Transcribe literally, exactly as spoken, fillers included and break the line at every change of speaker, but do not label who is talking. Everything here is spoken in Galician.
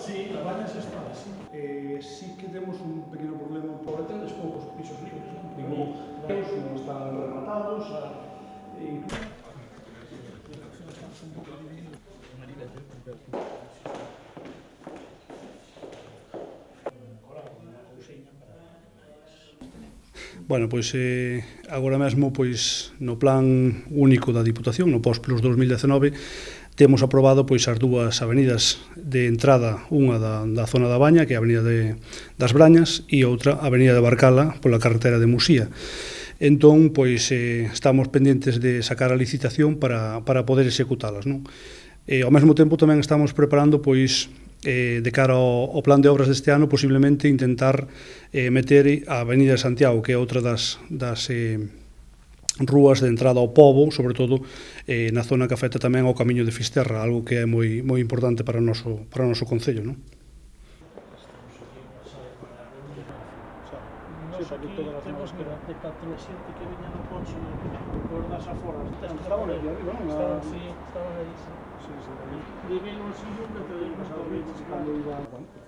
Sí, a baña se está, sí. Eh, sí que temos un pequeno problema por tedes poucos pisos libres, non? Digo, non están rematados, e... Bueno, pois eh, agora mesmo pois no plan único da Diputación, no Pós-Plus dos mil dezenove, temos aprobado pois as dúas avenidas de entrada, unha da, da zona da Baña, que é a Avenida de, das Brañas, e outra, a Avenida de Barcala, pola carretera de Musía. Entón, pois, eh, estamos pendentes de sacar a licitación para, para poder executalas, non? E, ao mesmo tempo, tamén estamos preparando, pois, eh, de cara ao, ao plan de obras deste ano, posiblemente intentar eh, meter a Avenida de Santiago, que é outra das, das eh, rúas de entrada ao pobo, sobre todo eh, na zona que afecta tamén ao Camiño de Fisterra, algo que é moi, moi importante para o noso, para o noso concello, non?
Nos aquí temos de catro xente que viña no coche por das aforas.
Estaban aquí arriba, non?
Estaban, sí, estaban aí, sí.
Sí, sí.
Divino, sí, nunca te digo,
Cando iba...